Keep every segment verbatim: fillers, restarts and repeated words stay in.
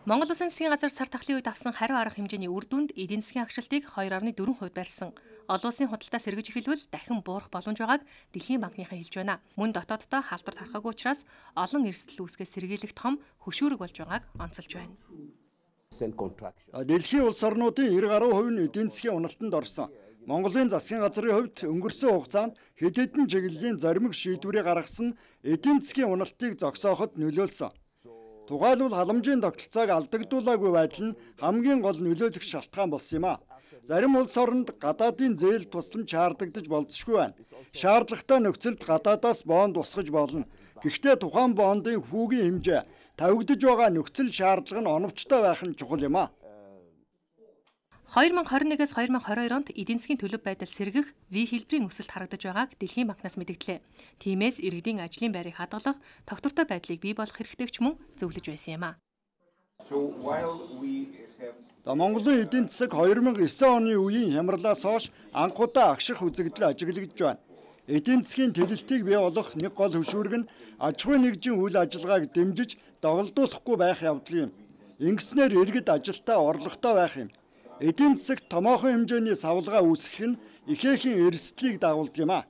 Монгол Улсын засгийн газар сар тахлын үед авсан хариу арга хэмжээний үр дүнд эдийн засгийн агшилтыг two point four хувь барьсан. Олон улсын худалдаа сэргэж эхэлвэл дахин буурах боломж байгааг Дэлхийн банкныхан хэлж байна. Мөн дотооддоо халдвар тархаагүй учраас олон эрсдэл үүсгэх сэргийлэх том хөшүүрэг болж байгааг онцолж байна. Дэлхийн улс орнуудын ninety гаруй хувь нь эдийн засгийн уналтанд орсон. Монголын засгийн газрын хувьд өнгөрсөн хугацаанд хэд хэдэн чиглэлийн заримг шийдвэрийг гаргасан эдийн засгийн уналтыг зогсооход нөлөөлсөн. Тухайлбал халамжийн тогтолцоог алдагдуулаагүй байдал нь хамгийн гол нөлөөлөх шалтгаан болсон юм а. Зарим улс оронд гадаадын зээл тусламж шаардагдаж болзошгүй байна. Шаардлагатай нөхцөлд гадаадаас бонд усгаж болно. Гэхдээ тухайн бондын хүүгийн хэмжээ тавигдж байгаа нөхцөл шаардлага нь оновчтой байх нь чухал юм а. twenty twenty-one-ээс twenty twenty-two онд эдийн засгийн төлөв байдал сэргэх V хэлбэрийн өсөлт харагдаж байгааг Дэлхийн банкнаас мэдгдлээ. Тиймээс иргэдийн ажлын байрыг хадгалах, тогтвортой байдлыг бий болгох хэрэгтэй ч мөн зөвлөж байсан юм а. Монголын эдийн засаг two thousand nine оны үеийн хямралаас хойш анхудаа агших үзэгдэл ажиглагдж байна. Эдийн засгийн тэлэлтийг бий болгох нэг гол хөшүүрэг нь аж ахуйн нэгжийн үйл ажиллагааг дэмжиж доголдуулахгүй байх явдал юм. Ингэснээр иргэд ажилдаа орлоготой байх юм. Эдийн засагт томоохон хэмжээний савлгаа үүсгэх нь ихээхэн эрсдлийг дагуулдаг юм а.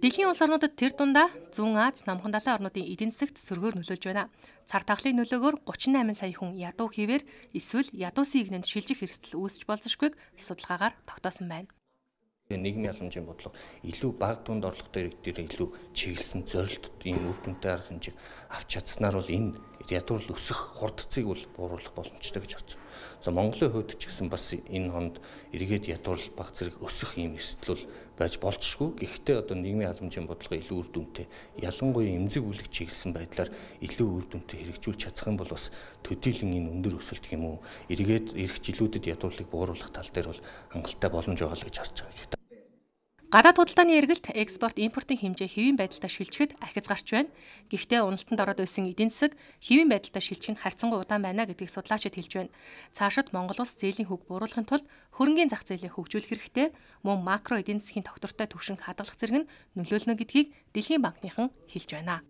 Дэлхийн улс орнуудад тэр дундаа Зүүн Аз, Намхан далайн орнуудын эдийн засагт сөргөөр нөлөөлж байна. Цар тахлын нөлөөгөөр thirty-eight сая хүн ядуу хийвэр эсвэл ядуусын игнэнд шилжих эрсдэл үүсч болзошгүйг судалгаагаар тогтоосон байна. Нийгмийн халамжийн бодлого илүү бага дунд орлоготой иргэдээр илүү чиглэсэн зорилт ийм үр дүнтэй арга хэмжээг авч чадсанаар бол энэ ядуурл өсөх хурдцыг бол бууруулах боломжтой гэж харж байна. За Монголын хувьд ч гэсэн бас энэ хонд эргээд ядуурл бага зэрэг өсөх ийм эрсдэл бол байж болзошгүй. Гэхдээ одоо нийгмийн халамжийн бодлого илүү үр дүнтэй, ялангуяа эмзэг бүлэг чиглэсэн байдлаар илүү үр дүнтэй хэрэгжүүлж чадах юм бол бас төдийлөн энэ өндөр өсөлт юм уу эргээд ирэх жилүүдэд ядуурлыг бууруулах тал дээр бол хангалттай боломж байгаа л гэж харж байгаа. Гадаад худалдааны эргэлт экспорт импортын хэмжээ хэвийн байдалтай шилжихэд ахиц гарч байна. Гэхдээ уналтанд ороод байсан эдийн засаг хэвийн байдалтай шилжих нь харьцангуй удаан байна гэдгийг судлаачид хэлж байна. Цаашид Монгол улс зээлийн хөг бууруулахын тулд хөрөнгөний зах зээлийг хөгжүүлэх хэрэгтэй, мөн макро эдийн засгийн тогтвортой түвшинг хадгалах зэрэг нь нөлөөлнө гэдгийг Дэлхийн банкныхан хэлж байна.